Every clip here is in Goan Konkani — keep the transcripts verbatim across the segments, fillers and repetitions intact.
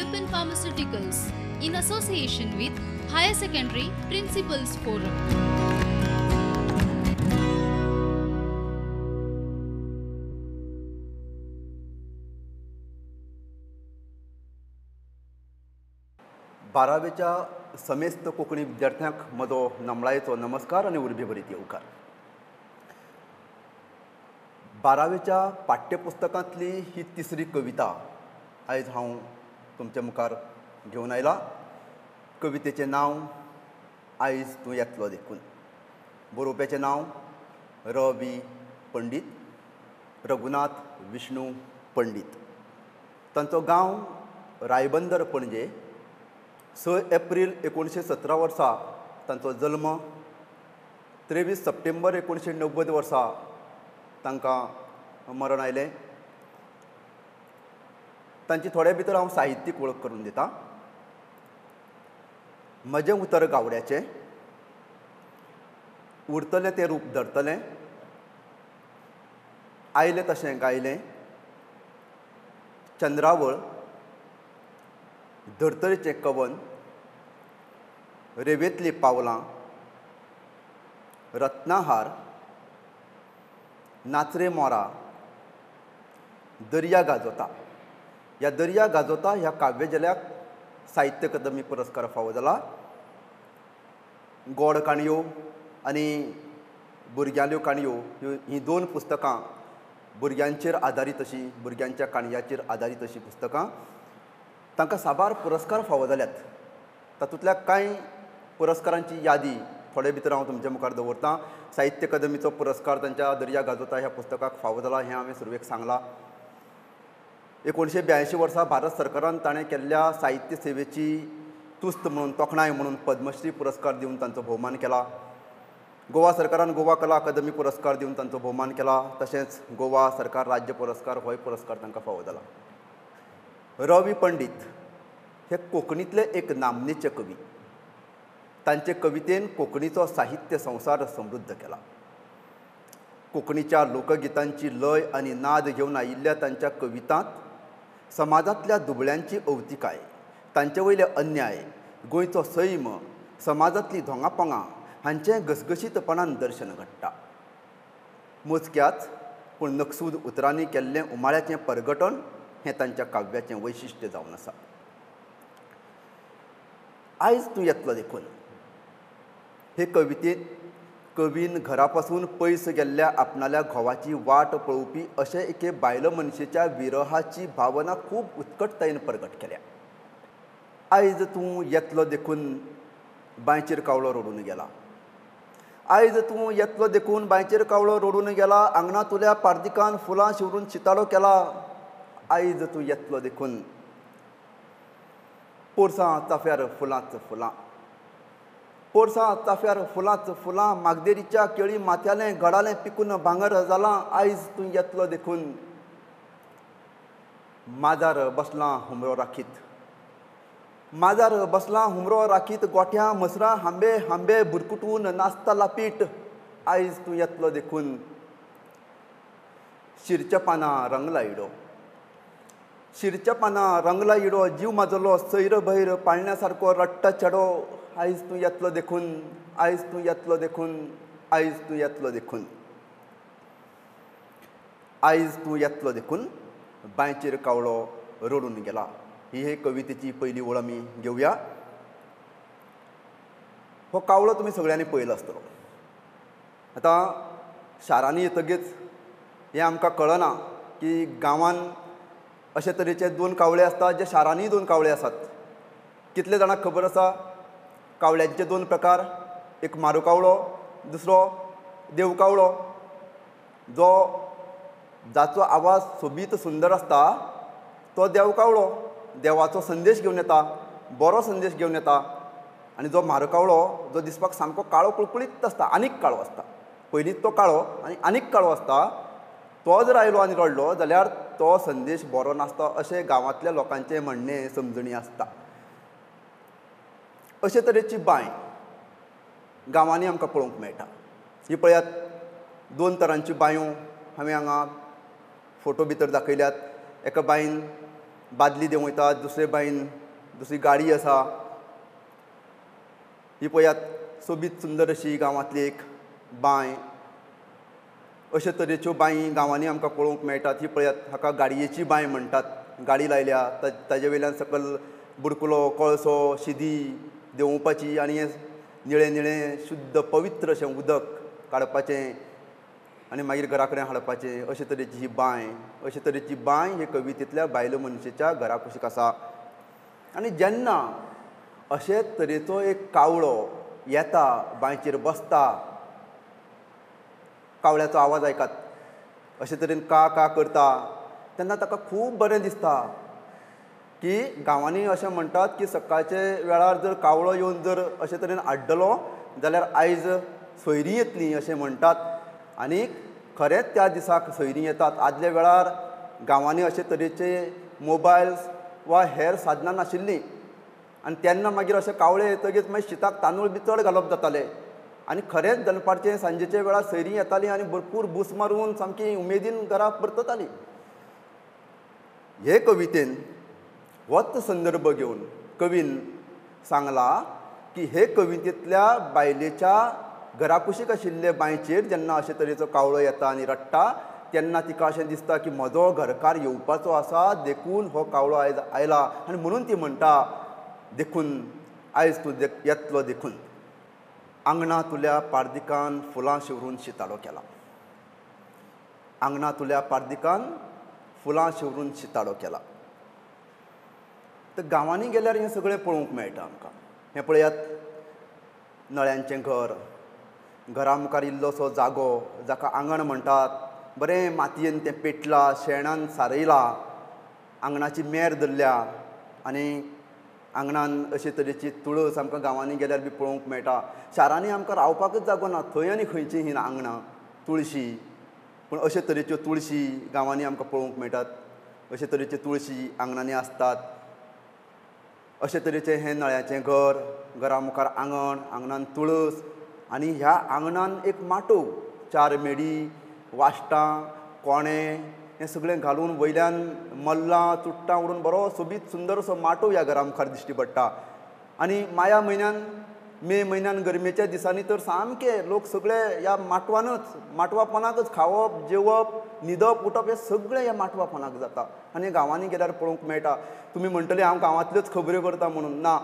Lupin Pharmaceuticals in association with Higher Secondary Principals Forum. बारावेच्या समेस्त कोंकणी विद्यार्थ्यांक म्हजो नमळायेचो नमस्कार आनी उर्बेभरीत येवकार. बारावेच्या पाठ्यपुस्तकांतली ही तिसरी कविता आयज हांव तुमच्या मुखार घेवन आयला. कवितेचें नांव आयज तूं येतलो देखून. बरोवप्याचें नांव र वी पंडीत, रघुनाथ विष्णू पंडीत. तांचो गांव रायबंदर पणजे. स एप्रील एकोणशे सतरा वर्सा तांचो जल्म. त्रेवीस सप्टेंबर एकोणशे णव्वद वर्सा तांकां मरण आयलें. तांची थोडे भितर हांव साहित्यीक वळख करून दितां. म्हजें उतर गावड्याचें, उरतलें तें रूप धरतलें, आयलें तशें गायलें, चंद्रावळ, धर्तरेचें कवन, रेवेंतलीं पावलां, रत्नाहार, नाचरे मोरा, दर्या गाजोता. ह्या दर्या गाजोता ह्या काव्यझेल्याक साहित्य अकादमी पुरस्कार फावो जाला. गोड काणयो आनी भुरग्यांल्यो काणयो ह्यो हीं दोन पुस्तकां भुरग्यांचेर आदारीत अशीं, भुरग्यांच्या काणयांचेर आदारीत अशीं पुस्तकां. तांकां साबार पुरस्कार फावो जाल्यात. तातूंतल्या कांय पुरस्कारांची यादी थोडे भितर हांव तुमच्या मुखार दवरतां. साहित्य अकादमीचो पुरस्कार तांच्या दर्या गाजोता ह्या पुस्तकाक फावो जाला हें हांवें सुरवेक सांगलां. एकोणशे ब्यायंशी वर्सा भारत सरकारान ताणें केल्ल्या साहित्य सेवेची तुस्त म्हणून, तोखणाय म्हणून पद्मश्री पुरस्कार दिवन तांचो भोवमान केला. गोवा सरकारान गोवा कला अकादमी पुरस्कार दिवन तांचो भोवमान केला. तशेंच गोवा सरकार राज्य पुरस्कार होय पुरस्कार तांकां फावो जाला. रवी पंडीत हे कोंकणींतले एक नामनेचे कवी. तांचे कवितेन कोंकणीचो साहित्य संवसार समृद्ध केला. कोंकणीच्या लोकगितांची लय आनी नाद घेवन आयिल्ल्या तांच्या कवितांत समाजांतल्या दुबळ्यांची अवतिकाय, तांचे वयले अन्याय, गोंयचो सैम, समाजांतली धोंगापोंगां हांचें घसघशीतपणान दर्शन घडटा. मोजक्याच पूण नकसूद उतरांनी केल्लें उमाळ्याचें परगटण हें तांच्या काव्याचें वैशिश्ट्य जावन आसा. आयज तूं येतलो देखून हे कवितेंत कवीन घरा पासून पयस गेल्ल्या आपणाल्या घोवाची वाट पळोवपी अशे एके बायल मनशेच्या विरहाची भावना खूब उत्कटतायेन प्रगट केल्या. आयज तूं येतलो देखून बांयचेर कावळो रडून गेला. आयज तूं येतलो देखून बांयचेर कावळो रडून गेला. आंगणांतल्या पार्दिकान फुलां शिवरून शिताडो केला. आयज तूं येतलो देखून पोरसां चाफ्यार फुलांच फुलां, पोरसां चाफ्यार फुलांच फुलां, मागदेरीच्या केळी माथ्यालें घडालें पिकून भांगर जालां. आयज तूं येतलो देखून माजार बसलां हुमरो राखीत, माजार बसलां हुमरो राखीत, गोठ्यां म्हसरां हांबे हांबे बुरकुटून नाचता लापीट. आयज तूं येतलो देखून शिरच्या पानां रंगला इडो, शिरच्या पानां रंगला इडो, जीव माजलो सैर भैर पाळण्या सारको रडटा चेडो. आयज तूं येतलो देखून, आयज तूं येतलो देखून, आयज तूं येतलो देखून. आयज तूं येतलो देखून बांयचेर कावळो रडून गेला. ही हे कवितेची पयली ओळ आमी घेवया. हो कावळो तुमी सगळ्यांनी पळयलो आसतलो. आतां शारांनी येतगीच हें आमकां कळना की गांवांत अशे तरेचे दोन कावळे आसतात, जे शारांनीय दोन कावळे आसात. कितले जाणांक खबर आसा कावळ्यांचे दोन प्रकार? एक मारू कावळो, दुसरो देव कावळो. जो जाचो आवाज सोबीत सुंदर आसता तो देव कावळो, देवाचो संदेश घेवन येता, बरो संदेश घेवन येता. आनी जो मारू कावळो जो दिसपाक सामको काळो कुळकुळीत आसता, आनीक काळो आसता, पयलींच तो काळो आनी आनीक काळो आसता, तो जर आयलो आनी रडलो जाल्यार तो संदेश बरो नासता अशें गांवांतल्या लोकांचें म्हणणें, समजणी आसता. अशे तरेची बांय गांवांनी आमकां पळोवंक मेळटा. ही पळयात दोन तरांच्यो बांयो हांवें हांगा फोटो भितर दाखयल्यात. एका बांयन बादली देंवयतात, दुसरे बांयन दुसरी गाडी आसा. ही पळयात सोबीत सुंदर अशी गांवांतली एक बांय. अशे तरेच्यो बांयी गांवांनी आमकां पळोवंक मेळटात. ही पळयात, हाका गाडयेची बांय म्हणटात. गाडी लायल्या, ताजे वयल्यान सकयल बुडकुलो, कळसो, शिदी देंवोवपाची आनी हें निळें निळें शुद्ध पवित्र अशें उदक काडपाचें आनी मागीर घरा कडेन हाडपाचें. अशे तरेची ही बांय, अशे तरेची बांय हे कवितेंतल्या बायल मनशेच्या घरा कुशीक आसा. आनी जेन्ना अशे तरेचो एक कावळो येता, बांयचेर बसता, कावळ्याचो आवाज आयकात, अशे तरेन का का करता, तेन्ना ताका खूब बरें दिसता की गांवांनी अशें म्हणटात की सकाळचे वेळार जर कावळो येवन जर अशे तरेन आड्डलो जाल्यार आयज सोयरीं येतलीं अशें म्हणटात. आनी खरेंच त्या दिसाक सोयरीं येतात. आदल्या वेळार गांवांनी अशे तरेचे मोबायल्स वा हेर साधनां नाशिल्लीं आनी तेन्ना मागीर अशे कावळे येतगीच मागीर शिताक तांदूळ बी चड घालप जातालें. आनी खरेंच दनपारचें सांजेच्या वेळार सैरीं येतालीं आनी भरपूर भूस मारून सामकी उमेदीन घरा परततालीं. हे कवितेन होच संदर्भ घेवन कवीन सांगलां की हे कवितेंतल्या बायलेच्या घरा कुशीक आशिल्ले बांयचेर जेन्ना अशे तरेचो कावळो येता आनी रडटा तेन्ना तिका अशें दिसता की म्हजो घरकार येवपाचो आसा, देखून हो कावळो आयज आयला आनी म्हणून ती म्हणटा देखून आयज तूं येतलो देखून. आंगणा तुल्या पार्दिकान फुलां शिंवरून शिताडो केला. आंगणा तुल्या पार्दिकान फुलां शिंवरून शिताडो केला. तर गांवांनी गेल्यार हें सगळें पळोवंक मेळटा आमकां. हें पळयात, नळ्यांचें घर, घरा मुखार इल्लोसो जागो जाका आंगण म्हणटात, बरें मातयेन तें पेटलां, शेणान सारयलां, आंगणाची मेर धरल्या आनी आंगणान अशे तरेची तुळस आमकां गांवांनी गेल्यार बी पळोवंक मेळटा. शारांनी आमकां रावपाकच जागो ना, थंय आनी खंयची ही आंगणां तुळशी, पूण अशे तरेच्यो तुळशी गांवांनी आमकां पळोवंक मेळटात. अशे तरेच्यो तुळशी आंगणांनी आसतात. अशे तरेचें हें नळ्याचें घर, घरा मुखार आंगण, आंगणान तुळस आनी ह्या आंगणान एक माटोव, चार मेडी, वाश्टां, कोणे हें सगळें घालून वयल्यान मल्लां चुट्टां उडून बरो सोबीत सुंदर असो माटोव ह्या घरा मुखार दिश्टी पडटा. आनी माया म्हयन्यान, मे म्हयन्यान गरमेच्या दिसांनी तर सामके लोक सगळे ह्या माटवानच, माटवापणाकच खावप, जेवप, न्हिदप, उठप हें सगळें ह्या माटवापणाक जाता. आनी गांवांनी गेल्यार पळोवंक मेळटा. तुमी म्हणटले हांव गांवांतल्योच खबऱ्यो करता म्हणून, ना,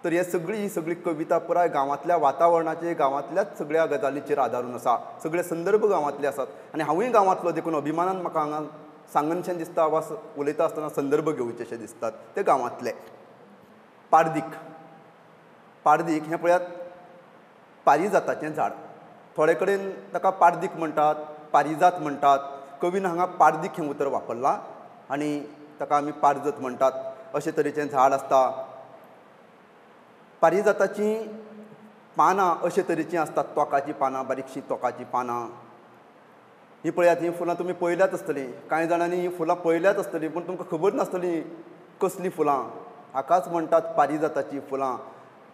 तर हे सगळी ही सगळी कविता पुराय गांवांतल्या वातावरणाचेर, गांवांतल्याच सगळ्या गजालीचेर आदारून आसा. सगळे संदर्भ गांवांतले आसात आनी हांवूय गांवांतलो देखून अभिमानान म्हाका हांगा सांगनशें दिसता वा उलयता आसतना संदर्भ घेवचे अशे दिसतात ते गांवांतले. पार्दीक, पार्दीक हें पळयात पारिजाताचें झाड. थोडे कडेन ताका पार्दीक म्हणटात, पारिजात म्हणटात. कवीन हांगा पार्दीक हें उतर वापरलां आनी ताका आमी पारजत म्हणटात. अशे तरेचें झाड आसता. पारिजाताचीं पानां अशे तरेचीं आसतात, तोकाचीं पानां, बारीकशीं तोकाचीं पानां. हीं पळयात, हीं फुलां तुमी पळयल्यात आसतलीं. कांय जाणांनी हीं फुलां पळयल्यात आसतलीं पूण तुमकां खबर नासतली कसलीं फुलां. हाकाच म्हणटात पारिजाताचीं फुलां.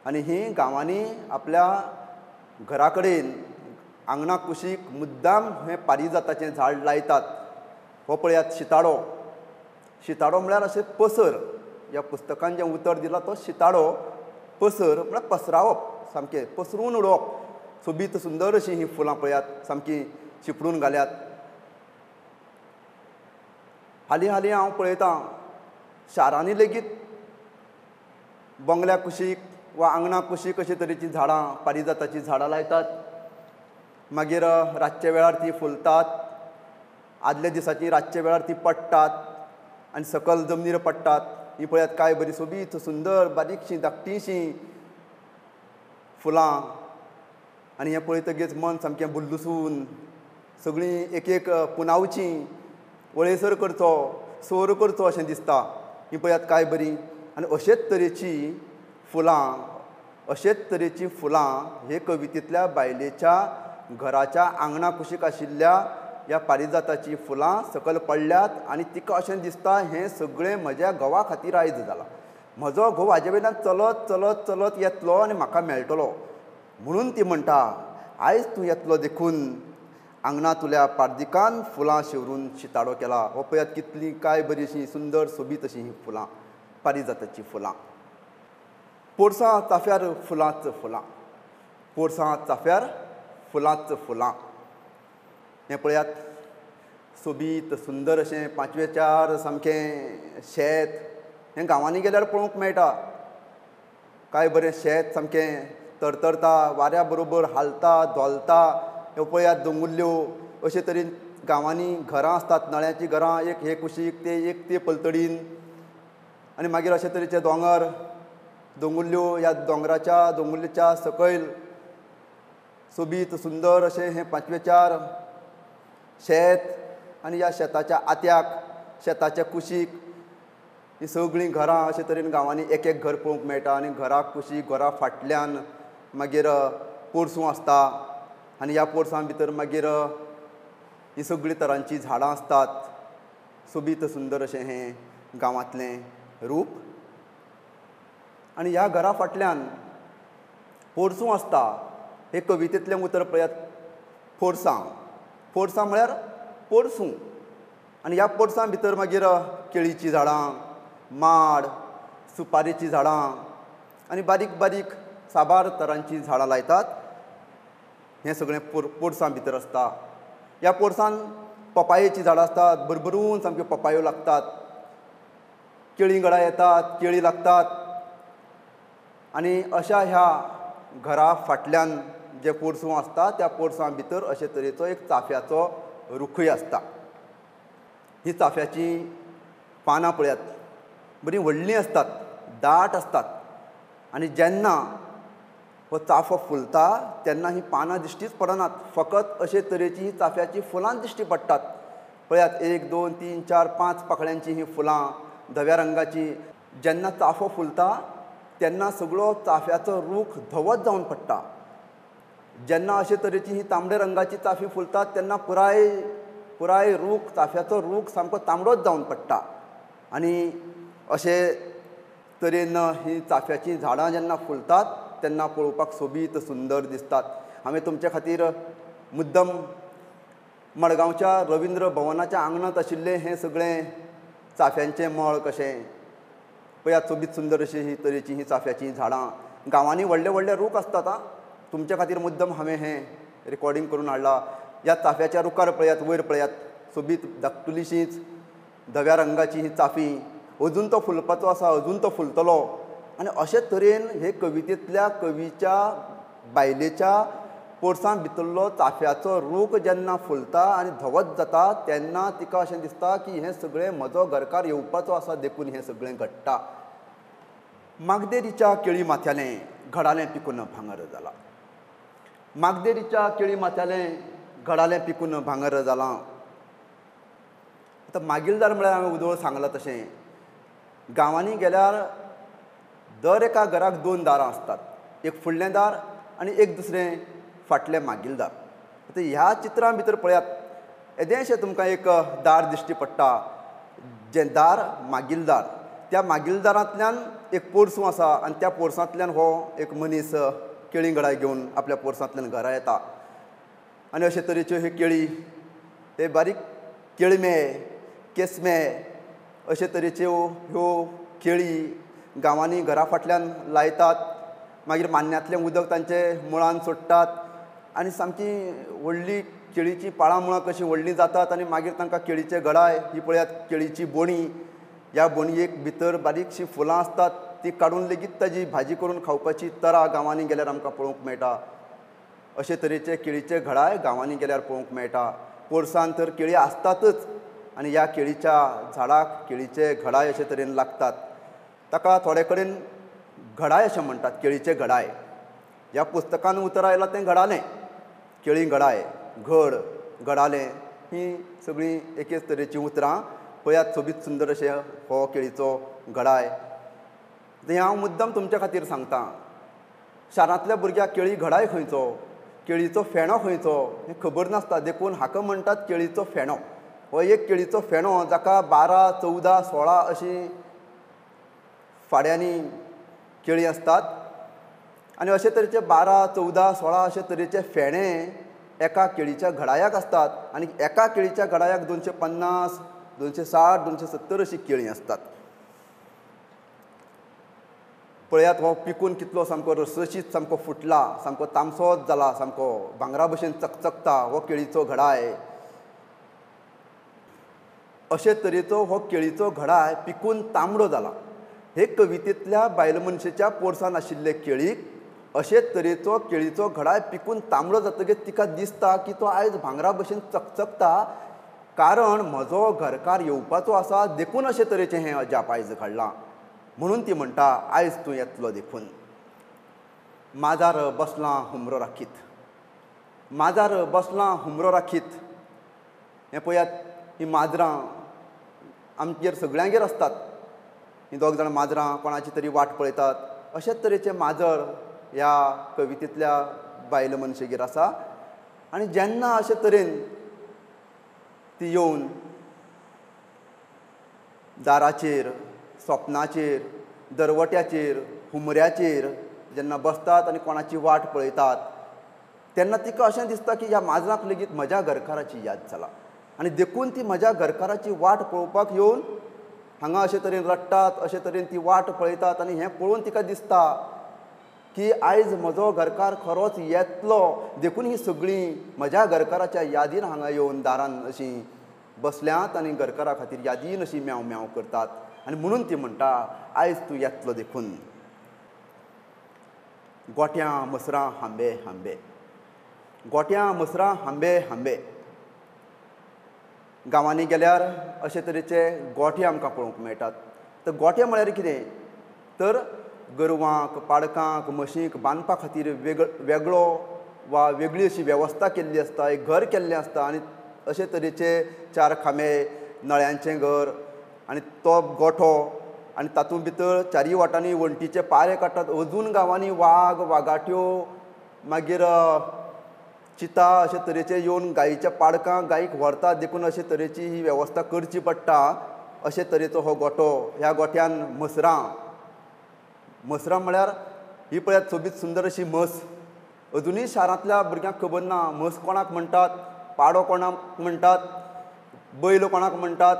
आनी हीं गांवांनी आपल्या घरा कडेन आंगणा कुशीक मुद्दाम हें पारिजाताचें झाड लायतात. हो पळयात शिताडो. शिताडो म्हळ्यार अशें पसर. ह्या पुस्तकान जें उतर दिलां तो शिताडो. पसर म्हळ्यार पसरावप, सामकें पसरून उडोवप. सोबीत सुंदर अशीं हीं फुलां पळयात सामकीं शिंपडून घाल्यात. हालीं हालीं हांव पळयतां शारांनी लेगीत बंगल्या कुशीक वा आंगणा कुशीक अशे तरेचीं झाडां, पारिजाताचीं झाडां लायतात. मागीर रातच्या वेळार तीं फुलतात, आदल्या दिसाचीं रातच्या वेळार तीं पडटात आनी सकयल जमनीर पडटात. हीं पळयात काय बरी सोबीत सुंदर बारीकशीं धाकटीशीं फुलां. आनी हें पळयतगीच मन सामकें बुल्लुसून सगळीं एक एक पुनावचीं, वळेसर करचो, सोर करचो अशें दिसता. हीं पळयात काय बरीं. आनी अशेच तरेचीं फुलां, अशेच तरेचीं फुलां हे कवितेंतल्या बायलेच्या घराच्या आंगणा कुशीक आशिल्ल्या ह्या पारिजाताचीं फुलां सकयल पडल्यात आनी तिका अशें दिसता हें सगळें म्हज्या घोवा खातीर आयज जालां. म्हजो घोव हाजे वयल्यान चलत चलत चलत येतलो आनी म्हाका मेळटलो म्हणून ती म्हणटा आयज तूं येतलो देखून, आंगणांतल्या पार्दिकान फुलां शिवरून शिताडो केला. हो पळयात कितलीं काय बरीं अशीं सुंदर सोबीत अशीं हीं फुलां, पारिजाताचीं फुलां. पोरसां चाफ्यार फुलांच फुलां, पोरसां चाफ्यार फुलांच फुलां. हें पळयात सोबीत सुंदर अशें पांचवेचार सामकें शेत. हें गांवांनी गेल्यार पळोवंक मेळटा. काय बरें शेत सामकें तरतरता, वाऱ्या बरोबर हालता धोलता. ह्यो पळयात दोंगुल्ल्यो. अशे तरेन गांवांनी घरां आसतात, नळ्यांचीं घरां, एक हे कुशीक ते एक ते पलतडीन, आनी मागीर अशे तरेचे दोंगर दोंगुल्ल्यो. ह्या दोंगराच्या दोंगुल्लेच्या सकयल सोबीत सुंदर अशें हें पांचवेचार शेत आनी ह्या शेताच्या आत्याक, शेताच्या कुशीक ही सगळीं घरां. अशे तरेन गांवांनी एक एक घर पळोवंक मेळटा आनी घरा कुशीक, घरा फाटल्यान मागीर पोरसूं आसता आनी ह्या पोरसां भितर मागीर ही सगळीं तरांचीं झाडां आसतात. सोबीत सुंदर अशें हें गांवांतलें रूप. आनी ह्या घरा फाटल्यान पोरसूं आसता. हे कवितेंतलें उतर पळयात, पोरसां. पोरसां म्हळ्यार पोरसूं. आनी ह्या पोरसां भितर मागीर केळीचीं झाडां, माड, सुपारेचीं झाडां आनी बारीक बारीक साबार तरांचीं झाडां लायतात. हें सगळें पोर पोरसां भितर आसता. ह्या पोरसान पपायेचीं झाडां आसतात, भरभरून सामक्यो पपायो लागतात. केळीं घडां येतात, केळीं लागतात. आनी अशा ह्या घरा फाटल्यान जें पोरसूं आसता त्या पोरसां भितर अशे तरेचो एक चाफ्याचो रुखूय आसता. ही चाफ्याचीं पानां पळयात, बरीं व्हडलीं आसतात, दाट आसतात. आनी जेन्ना हो चाफो फुलता तेन्ना हीं पानां दिश्टीच पडनात, फकत अशे तरेचीं हीं चाफ्याचीं फुलां दिश्टी पडटात. पळयात एक दोन तीन चार पांच पाकळ्यांचीं हीं फुलां, धव्या रंगाचीं. जेन्ना चाफो फुलता तेन्ना सगळो चाफ्याचो रूख धवोच जावन पडटा. जेन्ना अशे तरेचीं हीं तांबड्या रंगाचीं चाफीं फुलतात तेन्ना पुराय पुराय रूख, चाफ्याचो रूख सामको तांबडोच जावन पडटा. आनी अशे तरेन हीं चाफ्याचीं झाडां जेन्ना फुलतात तेन्ना पळोवपाक सोबीत सुंदर दिसतात. हांवें तुमचे खातीर मुद्दम मडगांवच्या रविंद्र भवनाच्या आंगणांत आशिल्लें हें सगळें चाफ्यांचें मळ कशें पळयात, सोबीत सुंदर अशीं ही तरेचीं हीं चाफ्याचीं झाडां. गांवांनी व्हडले व्हडले रूख आसतात. आं, तुमचे खातीर मुद्दम हांवें हें रिकॉर्डींग करून हाडलां. ह्या चाफ्याच्या रुखार पळयात, वयर पळयात, सोबीत धाकटुलीशींच धव्या रंगाचीं हीं चाफीं. अजून तो फुलपाचो आसा, अजून तो फुलतलो. आनी अशे तरेन हे कवितेंतल्या कवीच्या बायलेच्या पोरसां भितरलो चाफ्याचो रूख जेन्ना फुलता आनी धवोच जाता तेन्ना तिका अशें दिसता की हें सगळें म्हजो घरकार येवपाचो आसा देखून हें सगळें घडटा. मागदेरीच्या केळी माथ्यालें घडालें पिकून भांगर जालां. मागदेरीच्या केळी माथ्यालें घडालें पिकून भांगर जालां. आतां मागीलदार म्हळ्यार हांवें उदळ सांगलां तशें गांवांनी गेल्यार दर एका घराक दोन दारां आसतात, एक फुडलें दार आनी एक दुसरें फाटलें मागीलदार. आतां ह्या चित्रां भितर पळयात, येदेंशें तुमकां एक दार दिश्टी पडटा, जें दार मागीलदार. त्या मागीलदारांतल्यान एक पोरसूं आसा आनी त्या पोरसांतल्यान हो एक मनीस केळीं घडाय घेवन आपल्या पोरसांतल्यान घरा येता. आनी अशे तरेच्यो ह्यो केळी, हे बारीक केळमे, केसमे अशे तरेच्यो ह्यो केळी गांवांनी घरा फाटल्यान लायतात. मागीर मान्न्यांतलें उदक तांचे मुळान सोडटात आनी सामकी व्हडली केळीचीं पाळां मुळां कशीं व्हडलीं जातात आनी मागीर तांकां केळीचे घडाय. ही पळयात केळीची बोणी. ह्या बोणयेक भितर बारीकशीं फुलां आसतात, ती काडून लेगीत ताजी भाजी करून खावपाची तरा गांवांनी गेल्यार आमकां पळोवंक मेळटा. अशे तरेचे केळीचे घडाय गांवांनी गेल्यार पळोवंक मेळटा. पोरसांत तर केळी आसतातच आनी ह्या केळीच्या झाडाक केळीचे घडाय अशे तरेन लागतात. ताका थोडे कडेन घडाय अशें म्हणटात, केळीचे घडाय. ह्या पुस्तकान उतर आयलां तें घडालें, केळी घडाय, घड, घडालें, हीं सगळीं एकेच तरेचीं उतरां. पळयात सोबीत सुंदर अशें हो केळीचो घडाय. हें हांव मुद्दम तुमच्या खातीर सांगता. शारांतल्या भुरग्याक केळी घडाय खंयचो, केळीचो फेणो खंयचो हें खबर नासता, देखून हाका म्हणटात केळीचो फेणो. हो एक केळीचो फेणो जाका बारा, चवदा, सोळा अशीं फाड्यांनी केळीं आसतात आनी अशे तरेचे बारा, चवदा, सोळा अशे तरेचे फेणे एका केळीच्या घडायाक आसतात आनी एका केळीच्या घडायाक दोनशे पन्नास, दोनशे साठ, दोनशे सत्तर अशीं केळीं आसतात. पळयात हो पिकून कितलो सामको रसरशीत सामको फुटला, सामको तामसोच जाला, सामको भांगरा भशेन चकचकता हो केळीचो घडाय. अशे तरेचो हो केळीचो घडाय पिकून तांबडो जाला. हे कवितेंतल्या बायल मनशेच्या पोरसान आशिल्ले केळीक अशे तरेचो केळीचो घडाय पिकून तांबडो जातकीर तिका दिसता की तो आयज भांगरा भशेन चकचकता, कारण म्हजो घरकार येवपाचो आसा देखून अशे तरेचें हें अजाप आयज घडलां. म्हणून ती म्हणटा आयज तूं येतलो देखून. माजार बसलां हुमरो राखीत, माजार बसलां हुमरो राखीत. हें पळयात, हीं माजरां आमगेर सगळ्यांगेर आसतात. हीं दोग जाणां माजरां कोणाची तरी वाट पळयतात. अशेच तरेचें माजर ह्या कवितेंतल्या बायल मनशेगेर आसा. आनी जेन्ना अशे तरेन ती येवन दाराचेर, सोपनाचेर, दरवट्याचेर, हुमऱ्याचेर जेन्ना बसतात आनी कोणाची वाट पळयतात तेन्ना तिका अशें दिसता की ह्या माजराक लेगीत म्हज्या घरकाराची याद जाला आनी देखून ती म्हज्या घरकाराची वाट पळोवपाक येवन हांगा अशे तरेन रडटात, अशे तरेन ती वाट पळयतात. आनी हें पळोवन तिका दिसता की आयज म्हजो घरकार खरोच येतलो देखून ही सगळीं म्हज्या घरकाराच्या यादीन हांगा येवन दारान अशीं बसल्यांत आनी घरकारा खातीर यादीन अशी म्यांव म्यांव करतात. आनी म्हणून ती म्हणटा आयज तूं येतलो देखून. गोट्यां मसरां हांबे हांबे, गोट्यां मसरां हांबे हांबे. गांवांनी गेल्यार अशे तरेचे गोठे आमकां पळोवंक मेळटात. तर गोठे म्हळ्यार कितें तर गोरवांक, पाडकांक, म्हशींक बांदपा खातीर वेगळ वेगळो वा वेगळी अशी वेवस्था केल्ली आसता, एक घर केल्लें आसता आनी अशे तरेचे चार खांबे, नळ्यांचें घर आनी तो गोठो आनी तातूंत भितर चारय वाटांनी वण्टीचे पारे काडटात. अजून गांवांनी वाग, वागाट्यो, मागीर चिता अशे तरेचे येवन गायीच्या पाडकांक गायीक व्हरतात देखून अशे तरेची ही वेवस्था करची पडटा. अशे तरेचो हो गोठो. ह्या गोठ्यान म्हसरां, म्हसरां म्हळ्यार ही पळयात सोबीत सुंदर अशी म्हस. अजुनूय शारांतल्या भुरग्यांक खबर ना म्हस कोणाक म्हणटात, पाडो कोणाक म्हणटात, बैल कोणाक म्हणटात.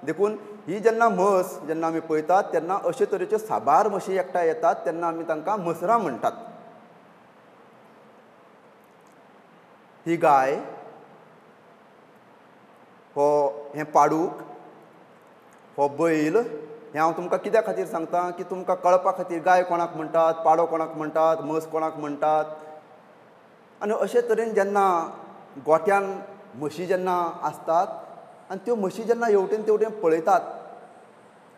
देखून ही जेन्ना म्हस जेन्ना आमी पळयतात तेन्ना अशे तरेच्यो साबार म्हशी एकठांय येतात तेन्ना आमी तांकां म्हसरां म्हणटात. ही गाय, हो हें पाडूक, हो बैल. हें हांव तुमकां कित्या खातीर सांगता की तुमकां कळपा खातीर गाय कोणाक म्हणटात, पाडो कोणाक म्हणटात, म्हस कोणाक म्हणटात. आनी अशे तरेन जेन्ना गोठ्यान म्हशी जेन्ना आसतात आनी त्यो म्हशी जेन्ना हेवटेन तेवटेन पळयतात,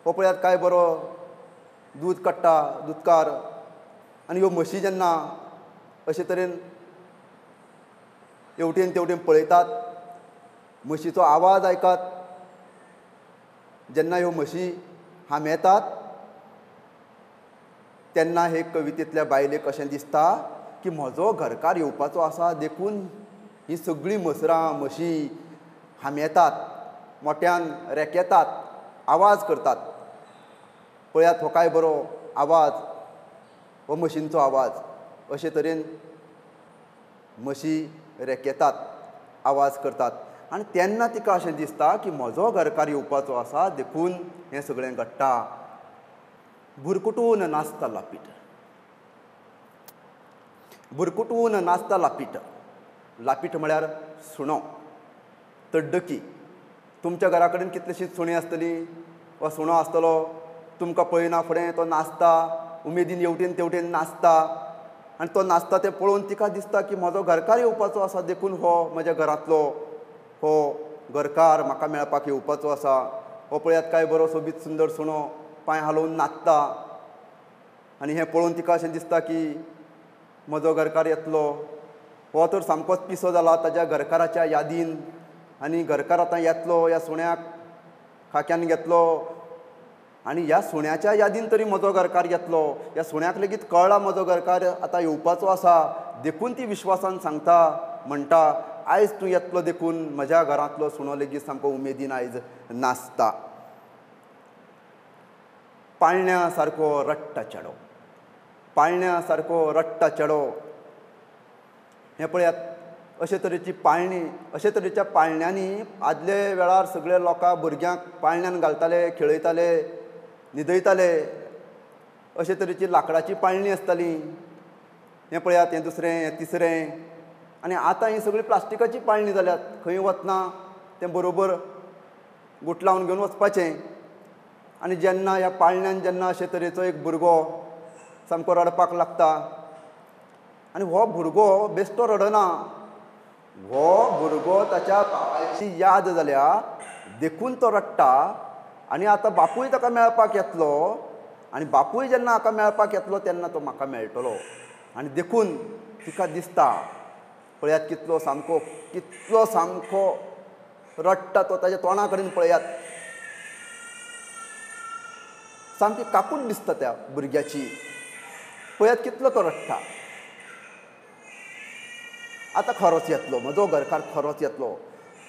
हो पळयात काय बरो दूद काडटा दुदकार. आनी ह्यो म्हशी जेन्ना अशे तरेन हेवटेन तेवटेन पळयतात, म्हशीचो आवाज आयकात, जेन्ना ह्यो म्हशी हांबेतात तेन्ना हे कवितेंतल्या बायलेक अशें दिसता की म्हजो घरकार येवपाचो आसा देखून ही सगळीं म्हसरां म्हशी हांबेतात, मोट्यान रेकेतात, आवाज करतात. पळयात हो काय बरो आवाज, हो म्हशींचो आवाज. अशे तरेन म्हशी रेकेतात, आवाज करतात आनी तेन्ना तिका अशें दिसता की म्हजो घरकार येवपाचो आसा देखून हें सगळें घडटा. बुरकुटून नाचता लापीट, बुरकुटून नाचता लापीट. लापीट म्हळ्यार सुणो, तड्डकी. तुमच्या घरा कडेन कितलीशींच सुणीं आसतलीं वा सुणो आसतलो, तुमकां पळयना फुडें तो नाचता, उमेदीन हेवटेन तेवटेन नाचता आनी तो नाचता तें पळोवन तिका दिसता की म्हजो घरकार येवपाचो आसा देखून हो म्हज्या घरांतलो हो घरकार म्हाका मेळपाक येवपाचो आसा. हो पळयात काय बरो सोबीत सुंदर सुणो पांय हालोवन नाचता आनी हें पळोवन तिका अशें दिसता की म्हजो घरकार येतलो. हो तर सामकोच पिसो जाला ताज्या घरकाराच्या यादीन आनी घरकार आतां येतलो, ह्या सुण्याक खाक्यान घेतलो आनी ह्या सुण्याच्या यादीन तरी म्हजो घरकार येतलो, ह्या सुण्याक लेगीत कळ्ळा म्हजो घरकार आतां येवपाचो आसा देखून ती विश्वासान सांगता, म्हणटा आयज तूं येतलो देखून म्हज्या घरांतलो सुणो लेगीत सामको उमेदीन आयज नाचता. पाळण्या सारको रडटा चेडो, पाळण्या सारको रडटा चेडो. हें पळयात अशे तरेची पाळणी, अशे तरेच्या पाळण्यांनी आदले वेळार सगळे लोकां भुरग्यांक पाळण्यान घालताले, खेळयताले, न्हिदयताले. अशे तरेची लांकडाची पाळणी आसताली. हें पळयात, हें दुसरें, हें तिसरें. आनी आतां ही सगळी प्लास्टिकाची पाळणी जाल्यात. खंय वतना तें बरोबर गुटलावन घेवन वचपाचें. आनी जेन्ना ह्या पाळण्यान जेन्ना अशे तरेचो एक भुरगो सामको रडपाक लागता आनी हो भुरगो बेश्टो रडना, हो भुरगो ताच्या बापायची याद जाल्या देखून तो रडटा. आनी आतां बापूय ताका मेळपाक येतलो आनी बापूय जेन्ना हाका मेळपाक येतलो तेन्ना तो म्हाका मेळटलो. आनी देखून तिका दिसता, पळयात कितलो सामको कितलो सामको रडटा तो, ताच्या तोंडा कडेन पळयात, सामकी काकूट दिसता त्या भुरग्याची. पळयात कितलो तो रडटा. आतां खरोच येतलो म्हजो घरकार, खरोच येतलो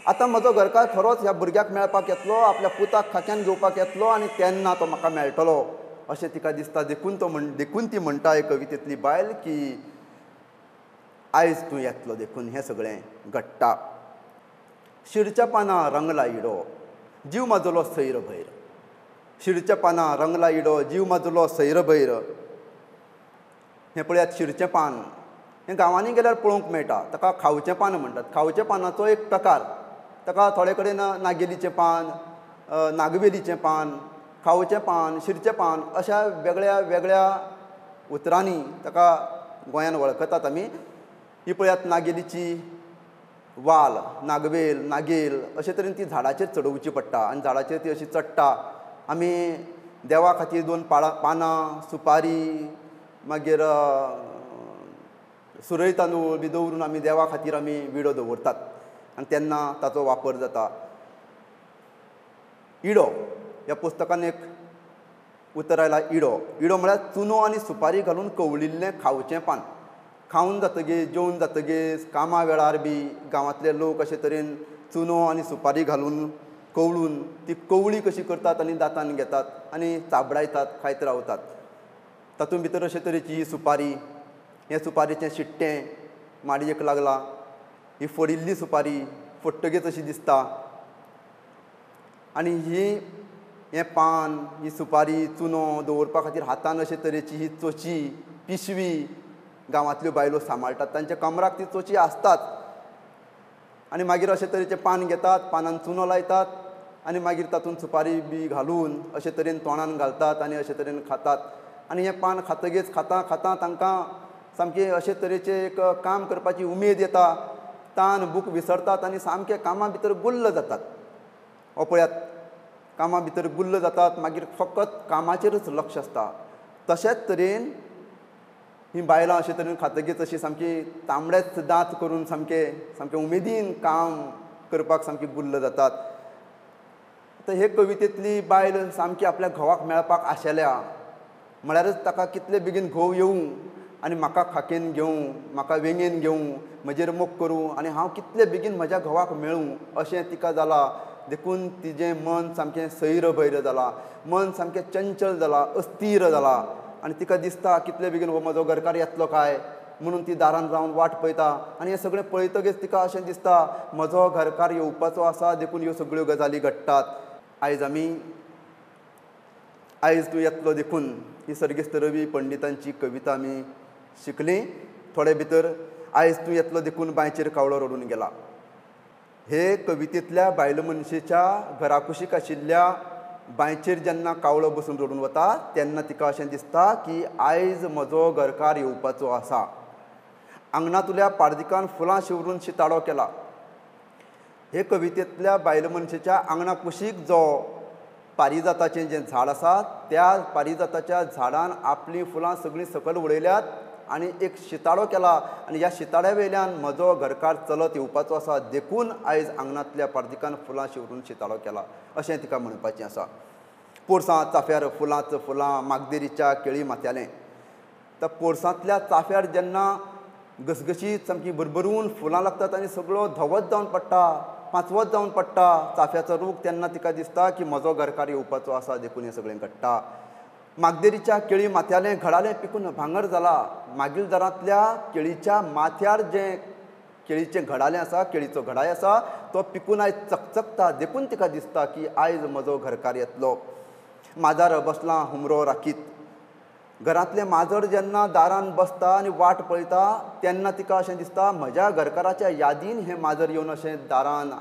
आतां म्हजो घरकार, खरोच ह्या भुरग्याक मेळपाक येतलो, आपल्या पुताक खाक्यान घेवपाक येतलो आनी तेन्ना तो म्हाका मेळटलो अशें तिका दिसता. देखून तो म्हण देखून ती म्हणटा हे कवितेंतली बायल की आयज तूं येतलो देखून हें सगळें घडटा. शिरच्या पानां रंगला इडो जीव माजलो सैर भैर, शिरच्या पानां रंगला इडो जीव माजलो सैर भैर. हें पळयात शिरचें पान, हें गांवांनी गेल्यार पळोवंक मेळटा. ताका खावचें पान म्हणटात. खावचें पानाचो एक प्रकार. ताका थोडे कडेन नागेलीचें पान, नागवेलीचें पान, खावचें पान, शिरचें पान अशा वेगळ्या वेगळ्या उतरांनी ताका गोंयान वळखतात आमी. ही पळयात नागेलीची वाल, नागवेल, नागेल अशे तरेन ती झाडाचेर चडोवची पडटा आनी झाडाचेर ती अशी चडटा. आमी देवा खातीर दोन पाळां पानां, सुपारी, मागीर सुरय तांदूळ बी दवरून आमी देवा खातीर आमी विडो दवरतात आनी तेन्ना ताचो वापर जाता. इडो ह्या पुस्तकान एक उतर आयला इडो. इडो म्हळ्यार चुनो आनी सुपारी घालून कवळिल्लें खावचें पान. खावन जातगीर, जेवन जातगीर, कामा वेळार बी गांवांतले लोक अशे तरेन चुनो आनी सुपारी घालून कवळून ती कवळी कशी करतात आनी दांतान घेतात आनी चाबडायतात, खायत रावतात. तातूंत भितर अशे तरेची ही सुपारी, हें सुपारीचें शिट्टें माडयेक लागलां, ही फोडिल्ली सुपारी फोडटगीच अशी दिसता. आनी ही हें पान, ही सुपारी, चुनो दवरपा खातीर हातान अशे तरेची ही चोची, पिशवी गांवांतल्यो बायलो सांबाळटात. तांच्या कमराक ती चोची आसताच. आनी मागीर अशे तरेचें पान घेतात, पानान चुनो लायतात आनी मागीर तातूंत सुपारी बी घालून अशे तरेन तोंडान घालतात आनी अशे तरेन खातात. आनी हें पान खातगीच खाता खाता तांकां सामकें अशे तरेचें एक काम करपाची उमेद येता, तान भूक विसरतात आनी सामकें कामा भितर गुल्ल जातात. हो पळयात कामा भितर गुल्ल जातात, मागीर फकत कामाचेरच लक्ष आसता. तशेंच तरेन ही बायलां अशे तरेन खातगीच अशी सामकी तांबडेच दांत करून सामके सामके उमेदीन काम करपाक सामकी गुल्ल जातात. आतां हे कवितेंतली बायल सामकी आपल्या घोवाक मेळपाक आशेल्या, म्हळ्यारच ताका कितले बेगीन घोव येवं आनी म्हाका खाकेन घेवं, म्हाका वेंगेन घेवं, म्हजेर मोग करूं आनी हांव कितले बेगीन म्हज्या घोवाक मेळूं अशें तिका जालां. देखून तिजें मन सामकें सैर भैर जालां, मन सामकें चंचल जालां, अस्थीर जालां आनी तिका दिसता कितले बेगीन हो म्हजो घरकार येतलो काय म्हणून ती दारान रावन वाट पळयता. आनी हें सगळें पळयतगीच तिका अशें दिसता म्हजो घरकार येवपाचो आसा देखून ह्यो सगळ्यो गजाली घडटात. आयज आमी आयज तूं येतलो देखून ही सर्गेस्त रवी पंडितांची कविता आमी शिकली. थोडे भितर आयज तूं येतलो देखून बांयचेर कावळो रडून गेला हे कवितेंतल्या बायल मनशेच्या घराकुशीक आशिल्ल्या बांयचेर जेन्ना कावळो बसून रडून वता तेन्ना तिका अशें दिसता की आयज म्हजो घरकार येवपाचो आसा. आंगणांतल्या पार्दिकान फुलां शिंवरून शिताडो केला हे कवितेंतल्या बायल मनशेच्या आंगणा कुशीक जो पारिजाताचें जें झाड आसा त्या पारिजाताच्या झाडान आपलीं फुलां सगळीं सकयल उडयल्यात आनी एक शिताडो केला आनी ह्या शिताड्या वयल्यान म्हजो घरकार चलत येवपाचो आसा देखून आयज आंगणांतल्या पार्दिकान फुलां शिंवरून शिताडो केला अशें तिका म्हणपाचें आसा. पोरसां चाफ्यार फुलांच फुलां मागदेरीच्या केळी माथ्यालें. त्या पोरसांतल्या चाफ्यार जेन्ना घसघशीत सामकी भरभरून फुलां लागतात आनी सगळो धवत जावन पडटा, पांचवत जावन पडटा चाफ्याचो रूख, तेन्ना तिका दिसता की म्हजो घरकार येवपाचो आसा देखून हें सगळें घडटा. मागदेरीच्या केळी माथ्यालें घडालें पिकून भांगर जाला. मागीलदारांतल्या केळीच्या माथ्यार जें केळीचें घडालें आसा, केळीचो घडाय आसा, तो पिकून आयज चकचकता, देखून तिका दिसता की आयज म्हजो घरकार येतलो. माजार बसलां हुमरो राखीत. घरांतलें माजर जेन्ना दारान बसता आनी वाट पळयता तेन्ना तिका अशें दिसता म्हज्या घरकाराच्या यादीन हें माजर येवन अशें दारान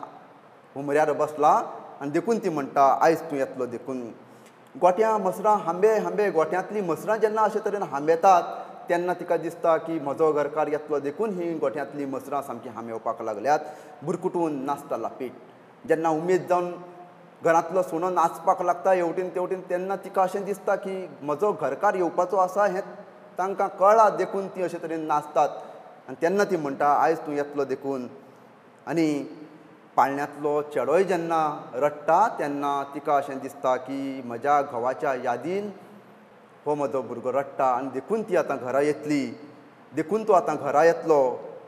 हुमऱ्यार बसलां आनी देखून ती म्हणटा आयज तूं येतलो देखून. गोट्यां म्हसरां हांबे हांबे, गोट्यांतलीं म्हसरां जेन्ना अशे तरेन हांबेतात तेन्ना तिका दिसता की म्हजो घरकार येतलो देखून ही गोट्यांतलीं म्हसरां सामकीं हांबेवपाक लागल्यात. बुरकुटून नाचता लापीट. जेन्ना उमेद जावन घरांतलो सुणो नाचपाक लागता हेवटेन तेवटेन तेन्ना तिका अशें दिसता की म्हजो घरकार येवपाचो आसा हें तांकां कळ्ळां देखून ती अशे तरेन नाचतात आनी तेन्ना ती म्हणटा आयज तूं येतलो देखून. आनी पाळण्यांतलो चेडोय जेन्ना रडटा तेन्ना तिका अशें दिसता की म्हज्या घोवाच्या यादीन हो म्हजो भुरगो रडटा आनी देखून ती आतां घरा येतली, देखून तो आतां घरा येतलो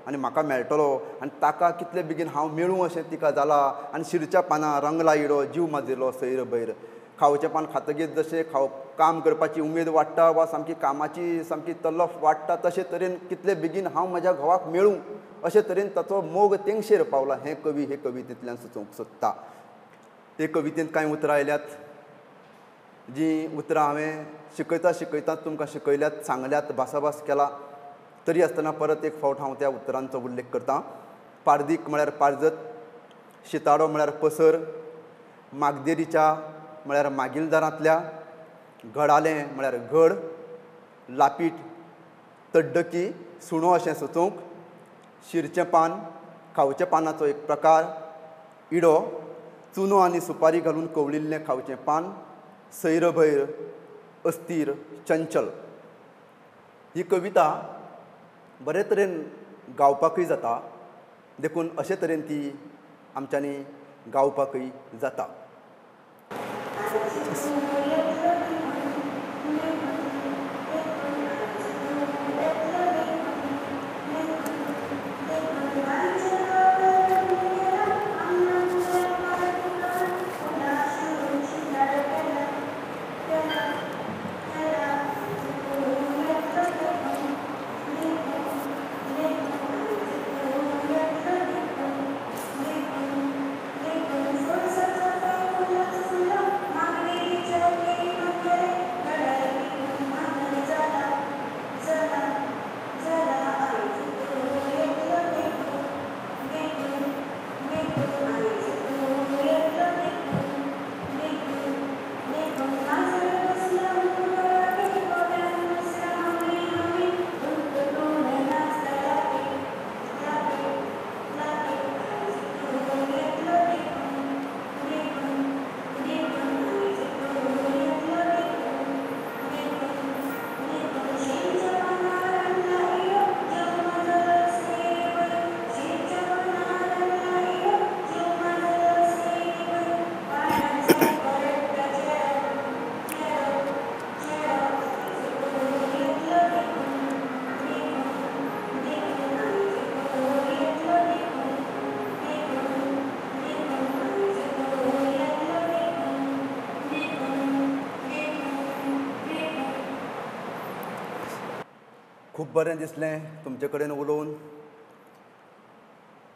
आनी म्हाका मेळटलो आनी ताका कितले बेगीन हांव मेळूं अशें तिका जालां. आनी शिरच्या पानां रंगला इडो जीव माजिल्लो सैर भैर. खावचें पान खातगीर जशें खाव काम करपाची उमेद वाडटा वा सामकी कामाची सामकी तलफ वाडटा तशे तरेन कितले बेगीन हांव म्हज्या घोवाक मेळूं अशे तरेन ताचो मोग तेंगशेर पावला हें कवी हे कवितेंतल्यान सुचोवंक सोदता. ते कवितेंत कांय उतरां आयल्यात जीं उतरां हांवें शिकयता शिकयता तुमकां शिकयल्यात, सांगल्यात, भासाभास केला, तरी आसतना परत एक फावट हांव त्या उतरांचो उल्लेख करता. पारदीक म्हळ्यार पारजत, शिताडो म्हळ्यार पसर, मागदेरीच्या म्हळ्यार मागीलदारांतल्या, घडालें म्हळ्यार घड, लापीट तड्डकी सुणो अशें सुचोवंक, शिरचें पान खावच्या पानाचो एक प्रकार, इडो चुनो आनी सुपारी घालून कवळिल्लें खावचें पान, सैरभैर अस्थिर चंचल. ही कविता बरे तरेन गावपाकूय जाता देखून अशे तरेन ती आमच्यांनी गावपाकूय जाता. खूब बरें दिसलें तुमचे कडेन उलोवन.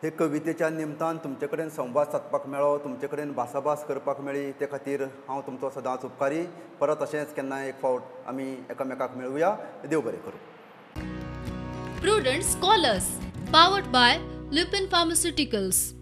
हे कवितेच्या निमतान तुमचे कडेन संवाद सादपाक मेळ्ळो, तुमचे कडेन भासाभास करपाक मेळ्ळी, ते खातीर हांव तुमचो सदांच उपकारी. परत अशेंच केन्नाय एक फावट आमी एकामेकाक मेळुया. देव बरें करूं. Prudent Scholars, powered by Lupin Pharmaceuticals.